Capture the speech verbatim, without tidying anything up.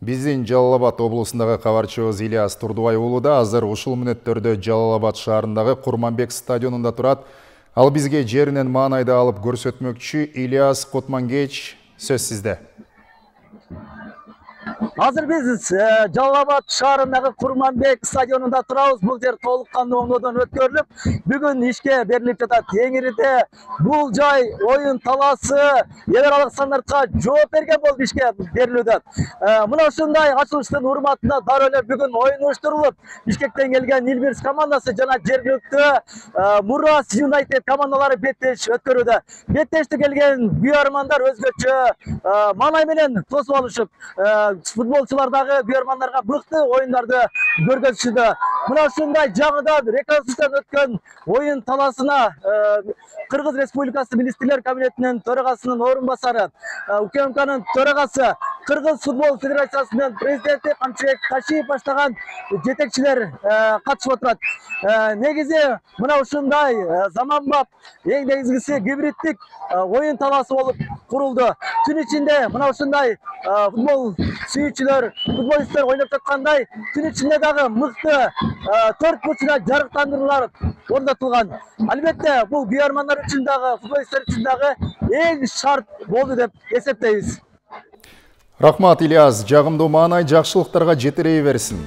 Биздин Жалал Абад облусундагы кабарчыбыз Ильяс Турдубай уулу да азыр ушул мүнөттөрдө Жалал Абад шаарындагы Курманбек стадионунда турат. Ал бизге жеринен маанайды алып көрсөтмөкчү. Ильяс Кутмангеч, сөз сизде. Азыр биз Жалал Абад шаарындагы Курманбек стадионунда турабыз. Бул жер толук кандуу оңдоодон өткөрүлүп, бүгүн ишке берилип жатат. Теңириде бул жай оюн талаасы эл аралык стандартка жооп берген болуп ишке берилүүдө. Мына ушундай ачылыштын урматына дароо эле бүгүн оюн уюштурулуп, Бишкектен келген Илбирс командасы жана жергиликтүү Мурас Юнайтед командалары беттеш өткөрүүдө. Беттешти келген күйөрмандар өзгөчө маанай менен тосуп алышып, футболчулардагы күйөрмандарга мыкты оюндарды көргөзүшүдө. Мына ушундай жаңыдан реконструкциядан өткөн оюн талаасына Кыргыз Республикасы Министрлер кабинетинин төрагасынын орун басары, УКМКнын төрагасы, Кыргыз футбол федерациясынын президенти Камчыбек Ташиев баштаган жетекчилер катышып отурат. Негизи мына ушундай заманбап, эң негизгиси гибридтик оюн талаасы болуп курулду. Түн ичинде мына ушундай футбол сүйүүчүлөр, футболисттер ойноп жаткандай, түн ичинде дагы мыкты төрт бурчуна жарыктандыруулар орнотулган. Албетте, бул күйөрмандар үчүн дагы, футболисттер үчүн дагы эң шарт болду деп эсептейбиз. Рахмат, Ильяс. Жагымдуу маанай жакшылыктарга жетирей берсин.